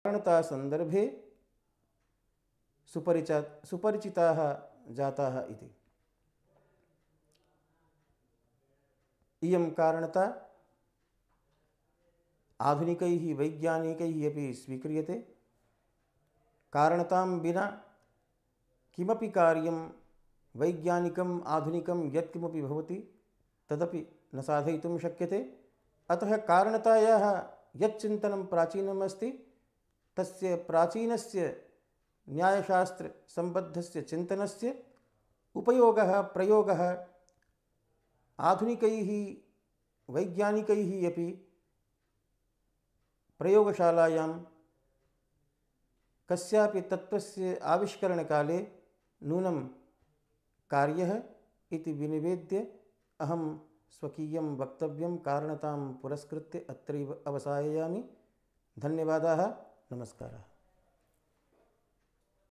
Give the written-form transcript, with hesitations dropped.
कारणता संदर्भे सुपरिचिताः जाताः इति। इयं कारणता आधुनिकैः वैज्ञानिकैः अपि स्वीक्रियते। कारणतां विना किमपि कार्यं वैज्ञानिकम् आधुनिकं यत्किमपि भवति तदपि न साधयितुं शक्यते। अतः कारणतायाः यच्चिन्तनं प्राचीनम् अस्ति तस्य प्राचीनस्य न्यायशास्त्रसम्बद्धस्य चिन्तनस्य उपयोगः प्रयोगः आधुनिकैः वैज्ञानिकैः अपि प्रयोगशालायां कस्यापि तत्त्वस्य आविष्करणकाले नूनं कार्यः इति विनिवेद्य अहं स्वकीयं वक्तव्यं कारणतां पुरस्कृत्य अत्रैव अवसाययामि। धन्यवादाः। नमस्कारः।